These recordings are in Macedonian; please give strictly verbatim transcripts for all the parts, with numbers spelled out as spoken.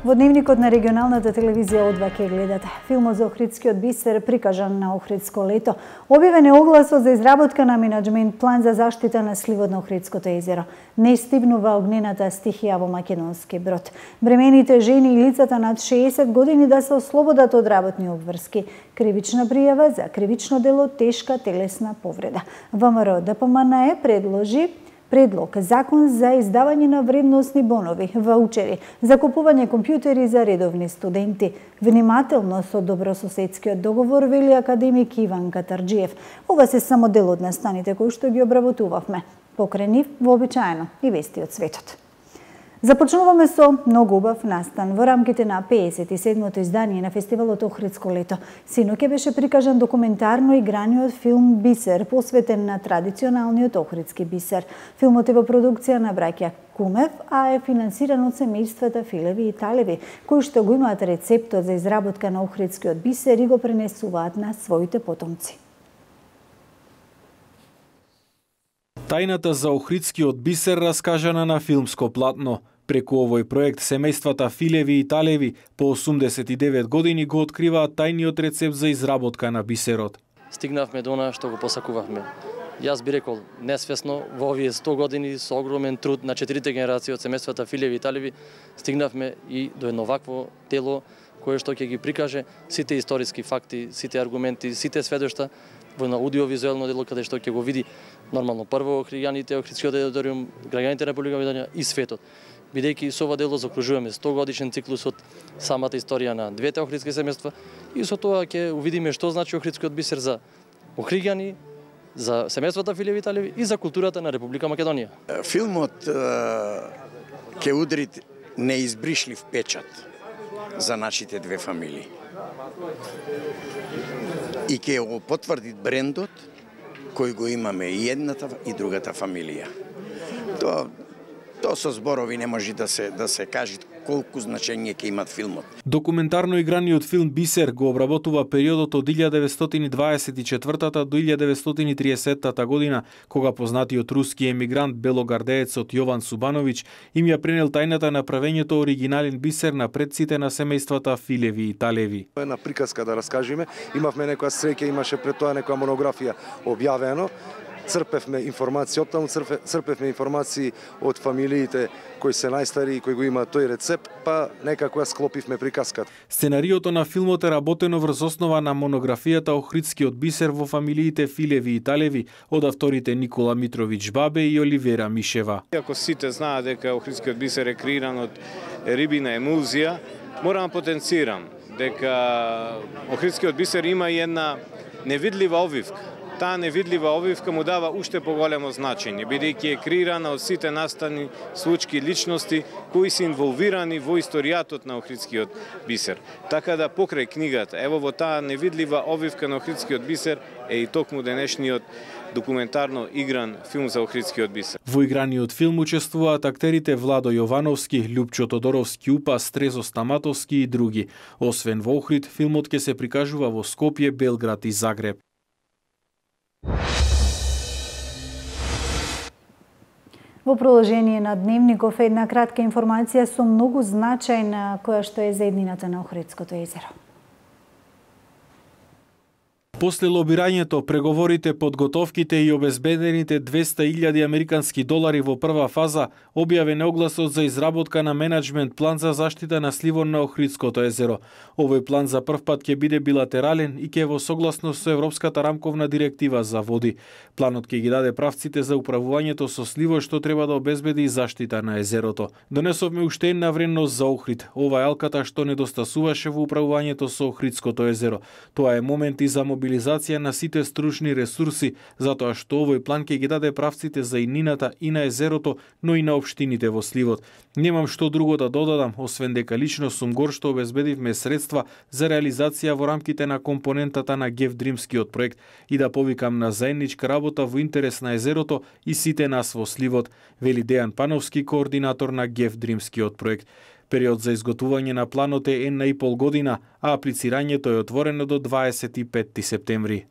Во дневникот на регионалната телевизија О два ќе гледате. Филмот за Охридскиот бисер прикажан на Охридско лето. Објавен е огласот за изработка на менаџмент план за заштита на сливот на Охридското езеро. Не стигнува огнената стихија во Македонски Брод. Бремените жени и лицата над шеесет години да се ослободат од работни обврски. Кривична пријава за кривично дело тешка телесна повреда. ВМРО Д П М Н Е предложи предлог закон за издавање на вредносни бонови, ваучери, за купување компјутери за редовни студенти. Внимателно со добрососедскиот договор, вели академик Иван Катарџиев. Ова се само дел од настаните кои што ги обработувавме. Покрај нив, вообичаено и вести од светот. Започнуваме со многу убав настан во рамките на пеесет и седмото издание на фестивалот Охридско лето. Синоќа беше прикажан документарно играниот филм Бисер, посветен на традиционалниот охридски бисер. Филмот е во продукција на браќа Кумев, а е финансиран од семејствата Филеви и Талеви, кои што го имаат рецептот за изработка на охридскиот бисер и го пренесуваат на своите потомци. Тајната за охридскиот бисер раскажана на филмско платно. Преку овој проект семејствата Филеви и Талеви по осумдесет и девет години го откриваат тајниот рецепт за изработка на бисерот. Стигнавме до она што го посакувавме. Јас би рекол, несвесно, во овие сто години со огромен труд на четирите генерации од семејствата Филеви и Талеви стигнавме и до едно вакво дело кое што ќе ги прикаже сите историски факти, сите аргументи, сите сведошта во едно аудиовизуелно дело каде што ќе го види нормално прво охриѓаните, охридскиот териториум, граѓаните на Република Македонија и светот. Бидејќи со ова дело закружуваме сто годишен циклус од самата историја на двете охридски семејства и со тоа ќе увидиме што значи охридскиот бисер за охриѓани, за семејствата Филеви и Талеви и за културата на Република Македонија. Филмот ќе удри неизбришлив печат за нашите две фамилии. И ќе го потврди брендот кој го имаме и едната и другата фамилија. Тоа Тоа со зборови не може да се да се каже колку значење ќе имат филмот. Документарно играниот филм Бисер го обработува периодот од илјада деветстотини дваесет и четвртата до илјада деветстотини триесеттата година, кога познатиот руски емигрант белогардеецот Јован Субановиќ им ја пренел тајната на правењето оригинален бисер на предците на семејствата Филеви и Талеви. Една приказка да раскажеме, имавме некоја среќа, имаше пред тоа некоја монографија објавено. Црпевме информации, оттаму црпевме информации од фамилиите кои се најстари и кои го имаат тој рецепт, па некако ја склопивме приказката. Сценариото на филмот е работено врз основа на монографијата Охридскиот бисер во фамилиите Филеви и Талеви од авторите Никола Митровиќ Бабе и Оливера Мишева. Иако сите знаат дека Охридскиот бисер е креиран од рибина емулзија, морам да потенцирам дека Охридскиот бисер има и една невидлива обвивка. Таа невидлива обвивка му дава уште поголемо значење, бидејќи е креирана од сите настани случки личности кои се инволвирани во историјатот на Охридскиот бисер. Така да покрај книгата, ево во таа невидлива обвивка на Охридскиот бисер е и токму денешниот документарно игран филм за Охридскиот бисер. Во играниот филм учествуваат актерите Владо Јовановски, Љупчо Тодоровски Упас, Трезо Стаматовски и други. Освен во Охрид, филмот ќе се прикажува во Скопје, Белград и Загреб. Во продолжение на Дневников една кратка информација со многу значајна која што е за еднината на Охридското езеро. После лобирањето, преговорите, подготовките и обезбедените двеста илјади американски долари во прва фаза, објавен огласот за изработка на менаџмент план за заштита на сливот на Охридското езеро. Овој план за прв пат ќе биде билатерален и ќе во согласност со Европската рамковна директива за води. Планот ќе ги даде правците за управувањето со сливот што треба да обезбеди заштита на езерото. Донесовме уште една вредност за Охрид. Ова е алката што недостасуваше во управувањето со Охридското езеро. Тоа е момент и за мобилизација на сите стручни ресурси, затоа што овој план ќе ги даде правците за иднината и на езерото, но и на општините во сливот. Немам што друго да додадам, освен дека лично сум гор што обезбедивме средства за реализација во рамките на компонентата на Гевдримскиот проект и да повикам на заедничка работа во интерес на езерото и сите нас во сливот, вели Дејан Пановски, координатор на Гевдримскиот проект. Период за изготвување на планот е една и пол година, а аплицирањето е отворено до дваесет и петти септември.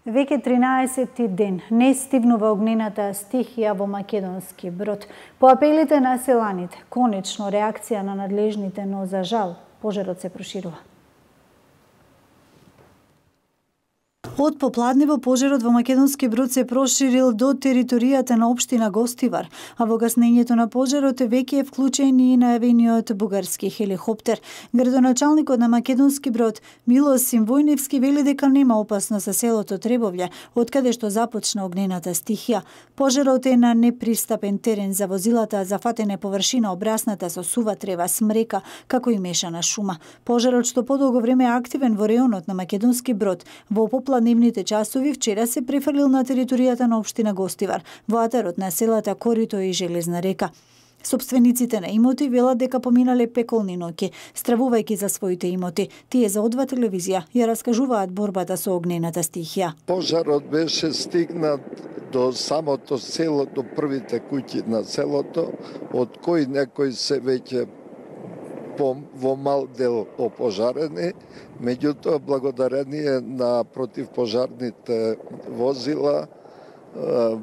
Веќе тринаесети ден не стивнува огнената стихија во Македонски Брод. По апелите на селаните, конечно реакција на надлежните, но за жал, пожарот се проширува. Од попладнево пожарот во Македонски Брод се проширил до територијата на општина Гостивар, а во гаснењето на пожарот веќе е вклучен и најавениот бугарски хеликоптер. Градоначалникот на Македонски Брод Милос Симвојневски вели дека нема опасност за селото Требовља, од каде што започна огнената стихија. Пожарот е на непристапен терен за возилата, зафатена површина обрасната со сува трева, смрека, како и мешана шума. Пожарот што подолго време е активен во реонот на Македонски Брод, во попладневните часови вчера се префрлил на територијата на општина Гостивар, во атарот на селата Корито и Железна река. Собствениците на имоти велат дека поминале пеколни ноќи, стравувајќи за своите имоти. Тие за О два телевизија ја раскажуваат борбата со огнената стихија. Пожарот беше стигнат до самото село, до првите куќи на селото, од кои некои се веќе во мал дел опожарени, меѓутоа благодарение на противпожарните возила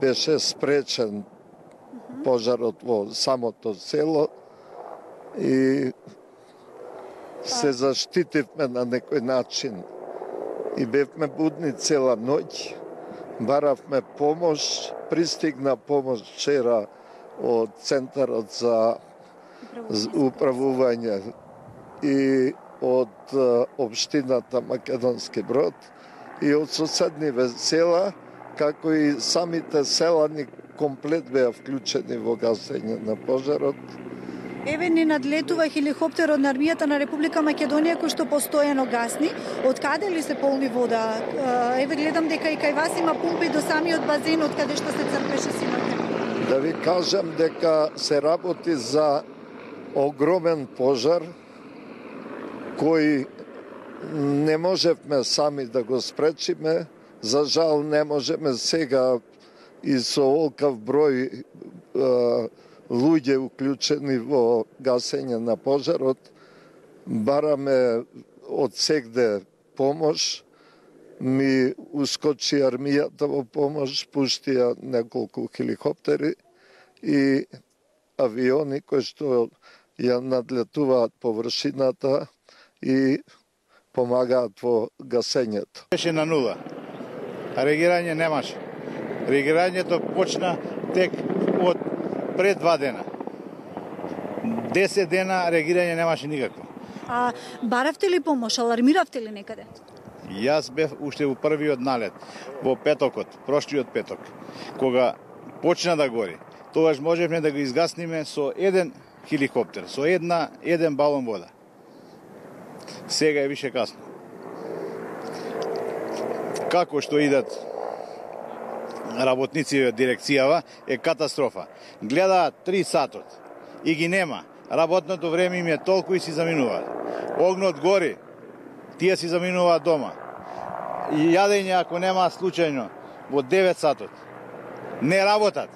беше спречен пожарот во самото село и се заштитивме на некој начин. И бевме будни цела ноќ, баравме помош, пристигна помош вчера од Центарот за управување и од општината Македонски Брод и од соседниве села, како и самите селани комплет беа вклучени во гасење на пожарот. Еве не надлетува хеликоптерот на армијата на Република Македонија кој што постојано гасни. Од каде ли се полни вода? Еве гледам дека и кај вас има пумпи до самиот базен од каде што се црпеше синоќа. Да ви кажам дека се работи за огромен пожар кој не можевме сами да го спречиме. За жал не можеме сега и со олкав број е, луѓе уклучени во гасење на пожарот. Бараме од сегде помош. Ми ускочи армијата во помош, пуштија неколку хеликоптери и авиони кои што ја надлетуваат површината и помагаат во гасењето. Беше на нула. Реагирање немаше. Реагирањето почна тек од пред два дена. Десет дена реагирање немаше никакво. А баравте ли помош, алармиравте ли некаде? Јас бев уште во првиот налет, во петокот, прошлиот петок, кога почна да гори. Тогаш можевме да го изгасниме со еден хеликоптер, со една еден балон вода. Сега е више касно. Како што идат работници од дирекцијава е катастрофа. Гледаат три сатот и ги нема. Работното време им е толку и си заминуваат. Огнот гори, тие си заминуваат дома. И јадење ако нема случајно во девет сатот. Не работат.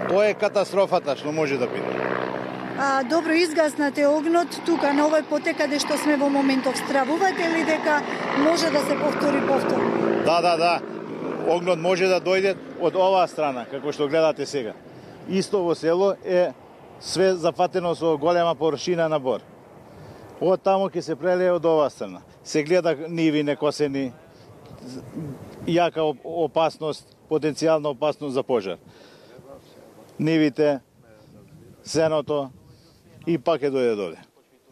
Тоа е катастрофата што може да биде. А, добро, изгаснате огнот тука на овој потек каде што сме во моментов. Стравувате ли дека може да се повтори повтор? Да, да, да. Огнот може да дојде од оваа страна, како што гледате сега. Исто во село е све зафатено со голема површина на бор. Од таму ќе се прелее од оваа страна. Се гледа ниви некосени, јака опасност, потенцијална опасност за пожар. Нивите, сеното и пак е дојде доле.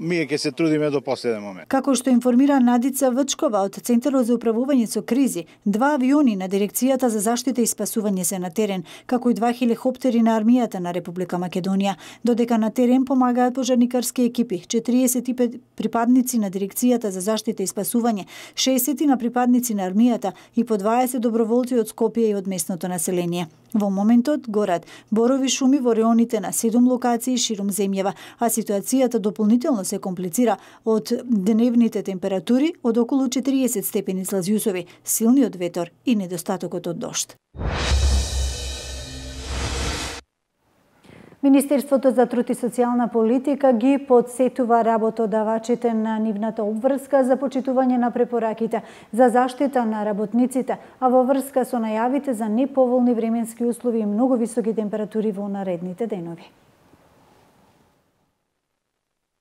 Ние ќе се трудиме до последен момент. Како што информира Надица Вчкова од Центарот за управување со кризи, два авиони на Дирекцијата за заштита и спасување се на терен, како и два хеликоптери на армијата на Република Македонија, додека на терен помагаат пожарникарски екипи, четириесет и пет припадници на Дирекцијата за заштита и спасување, шеесет на припадници на армијата и по дваесет доброволци од Скопје и од местното население. Во моментот горат борови шуми во реоните на седум локации ширум земјава, а ситуацијата дополнително се комплицира од дневните температури од околу четириесет степени Целзиусови, силниот ветер и недостатокот од дожд. Министерството за труд и социјална политика ги подсетува работодавачите на нивната обврска за почитување на препораките за заштита на работниците, а во врска со најавите за неповолни временски услови и многу високи температури во наредните денови.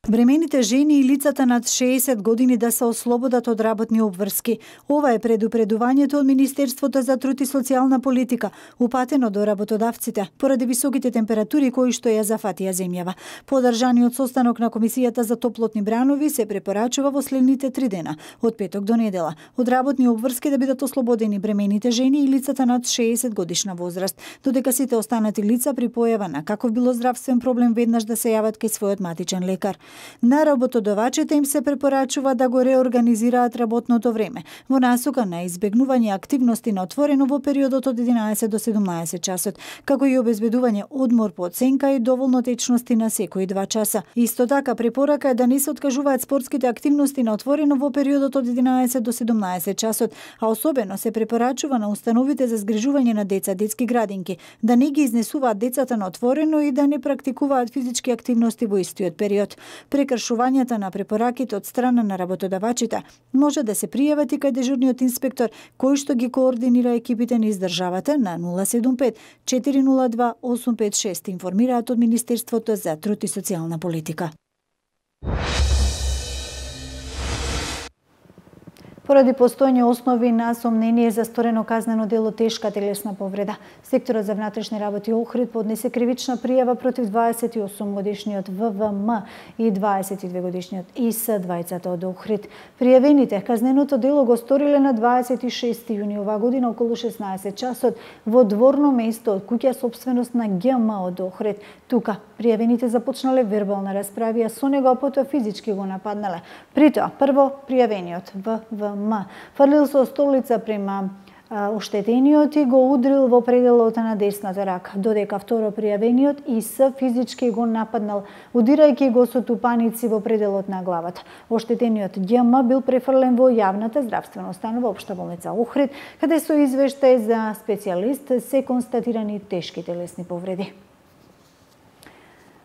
Бремените жени и лицата над шеесет години да се ослободат од работни обврски. Ова е предупредувањето од Министерството за труд и социјална политика, упатено до работодавците, поради високите температури кои што ја зафатија земјава. По одржаниот состанок на Комисијата за топлотни бранови се препорачува во следните три дена, од петок до недела, од работни обврски да бидат ослободени бремените жени и лицата над шеесет годишна возраст, додека сите останати лица при појава на каков било здравствен проблем веднаш да се јават кај својот матичен лекар. На работодавачите им се препорачува да го реорганизираат работното време во насока на избегнување активности на отворено во периодот од единаесет до седумнаесет часот, како и обезбедување одмор по оценка и доволно течности на секои два часа. Исто така препорака е да не се откажуваат спортските активности на отворено во периодот од единаесет до седумнаесет часот, а особено се препорачува на установите за згрижување на деца, детски градинки, да не ги изнесуваат децата на отворено и да не практикуваат физички активности во истиот период. Прекршувањата на препораките од страна на работодавачите може да се пријават и кај дежурниот инспектор, кој што ги координира екипите низ државата на нула седум пет четири нула два осум пет шест, информираат од Министерството за труд и социјална политика. Поради постојање основи на сомнение за сторено казнено дело тешка телесна повреда, секторот за внатрешни работи Охрид поднесе кривична пријава против дваесет и осум годишниот В В М и дваесет и две годишниот И С, двајцата од Охрид. Пријавените казненото дело го сториле на дваесет и шести јуни оваа година околу шеснаесет часот во дворно место од куќа собственост на Г М од Охрид. Тука пријавените започнале вербална расправија со него, а потоа физички го нападнале. Притоа, прво пријавениот В В М фрлил со столица према оштетениот и го удрил во пределот на десната рака, додека второ пријавениот И С физички го нападнал, удирајќи го со тупаници во пределот на главата. Оштетениот Г М бил префрлен во јавната здравствена установа Општа болница Охрид, каде со извештај за специјалист се констатирани тешки телесни повреди.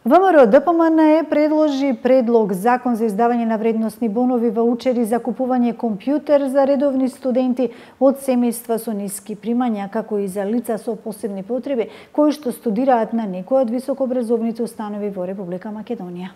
ВМРО Д П М Н Е предложи предлог закон за издавање на вредносни бонови, ваучери за купување компјутер за редовни студенти од семејства со ниски примања, како и за лица со посебни потреби кои што студираат на некој од високообразовните установи во Република Македонија.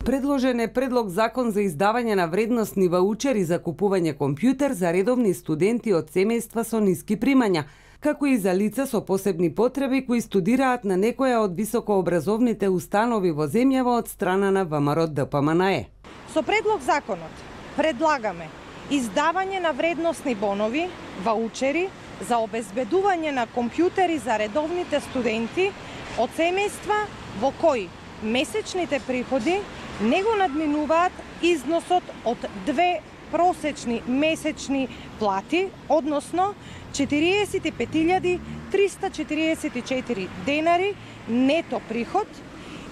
Предложен е предлог закон за издавање на вредносни ваучери за купување компјутер за редовни студенти од семејства со ниски примања, како и за лица со посебни потреби кои студираат на некоја од високообразовните установи во земјава од страна на ВМРО Д П М Н Е. Со предлог законот предлагаме издавање на вредносни бонови, ваучери за обезбедување на компјутери за редовните студенти од семејства во кои месечните приходи не го надминуваат износот од две просечни месечни плати, односно четириесет и пет илјади триста четириесет и четири денари нето приход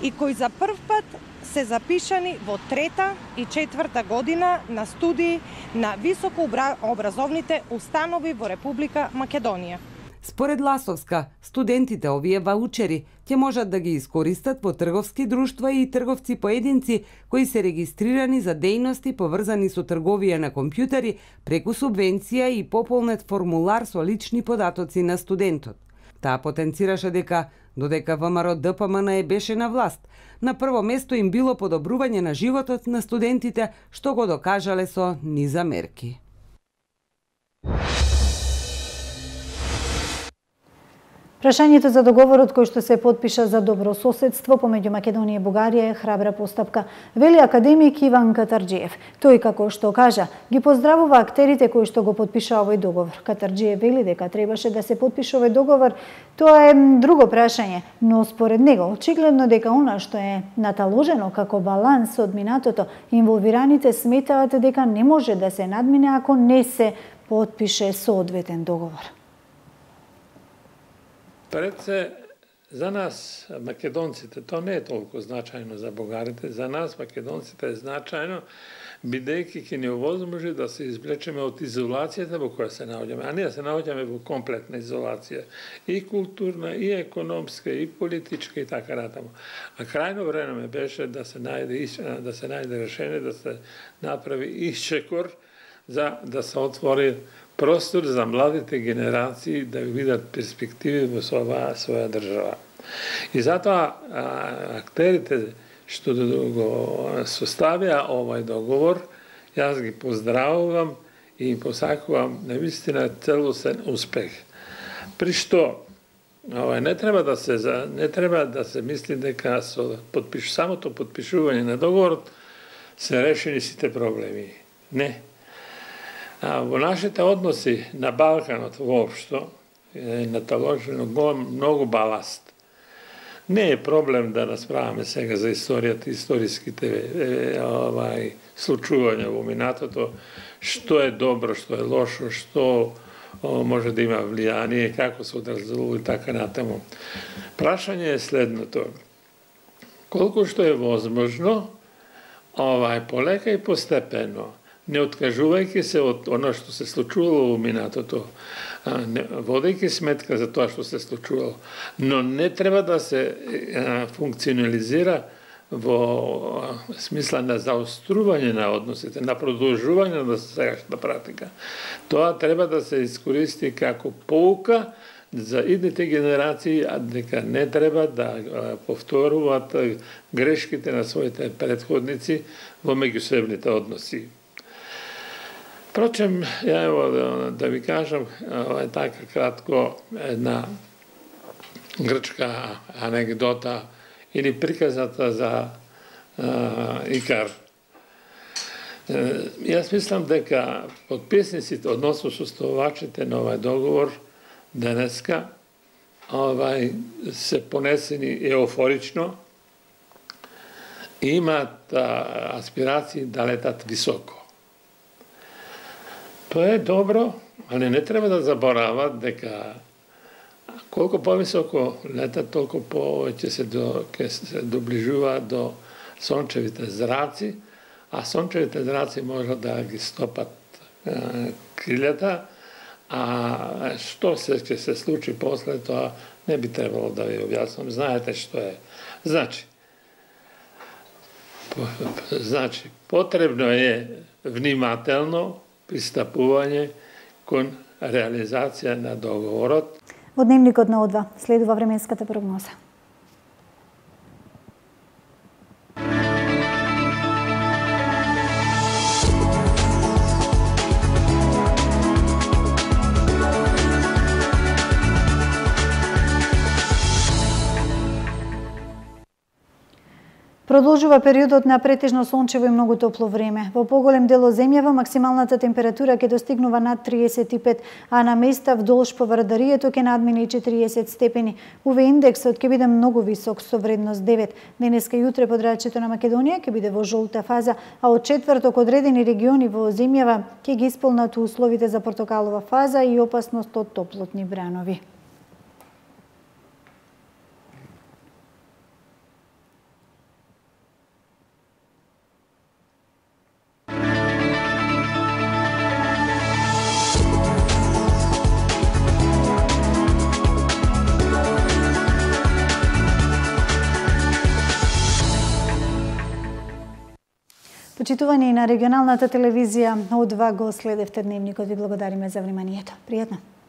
и кои за прв пат се запишани во трета и четврта година на студии на високообразовните установи во Република Македонија. Според Ласовска, студентите овие ваучери ќе можат да ги искористат во трговски друштва и трговци поединци кои се регистрирани за дејности поврзани со трговија на компјутери преку субвенција и пополнет формулар со лични податоци на студентот. Таа потенцираше дека, додека ВМРО Д П М Н Е беше на власт, на прво место им било подобрување на животот на студентите, што го докажале со низа мерки. Прашањето за договорот кој што се потпиша за добрососедство помеѓу Македонија и Бугарија е храбра постапка, вели академик Иван Катарџиев. Тој, како што кажа, ги поздравува актерите кои што го потпиша овој договор. Катарџиев вели дека требаше да се потпише овој договор, тоа е друго прашање, но според него очигледно дека она што е наталожено како баланс од минатото, инволвираните сметаат дека не може да се надмине ако не се потпише соодветен договор. Пред се, за нас, македонците, то не е толку значајно за бугарите, за нас, македонците, е значајно бидејќи ќе ни овозможи да се извлечеме од изолацијата во која се наоѓаме, а ние се наоѓаме во комплетна изолација, и културна, и економска, и политичка и така натаму. А крајно време беше да се најде да се најде решение, да се направи исчекор за да се отвори простор за младите генерации да видат перспективи во оваа своја држава. И затоа актерите што го составија овај договор, јас ги поздравувам и им посакувам навистина целосен успех. При што овај не треба да се не треба да се мисли дека со подпиш самото подпишување на договорот се решени сите проблеми. Не. А во нашите односи на Балканот воопшто е наталожено многу баласт. Не е проблем да расправаме сега за историјата, историските овај случувања во минатото, што е добро, што е лошо, што о, може да има влијание, како се одразува и така натаму. Прашање е следното. Колку што е возможно, овај полека и постепено, не откажувајќи се од оно што се случувало во минатото, водејќи сметка за тоа што се случувало, но не треба да се функционализира во смисла на заострување на односите, на продолжување на сегашната практика. Тоа треба да се искористи како поука за идните генерации, а дека не треба да повторуваат грешките на своите претходници во меѓусебните односи. Впрочем, ја ево да, да ви кажам, е така кратко една грчка анегдота или приказата за а, Икар. Јас мислам дека подписниците, односно составувачите на овај договор денеска овај се понесени еуфорично и имаат а, аспирации да летат високо. Тоа е добро, али не треба да заборават дека колку повисоко летат, толку повеќе се, до, се доближуваат до сончевите зраци, а сончевите зраци можат да ги стопат е, крилјата, а што се ќе се случи после тоа не би требало да ви објаснам. Знаете што е. Значи, по, значи потребно е внимателно пристапување кон реализација на договорот. Во дневникот на О два следува временската прогноза. Продолжува периодот на претежно сончево и многу топло време. Во поголем дел од земјава максималната температура ќе достигнува над триесет и пет, а на места вдолж поврдарието ќе надмине четириесет степени. УВ индексот ќе биде многу висок со вредност девет. Денеска и утре подрачјето на Македонија ќе биде во жолта фаза, а од четврток одредени региони во земјава ќе ги исполнат условите за портокалова фаза и опасност од топлотни бранови. Почитувани на регионалната телевизија О два го следевте дневникот. Ви благодариме за вниманието. Пријатно!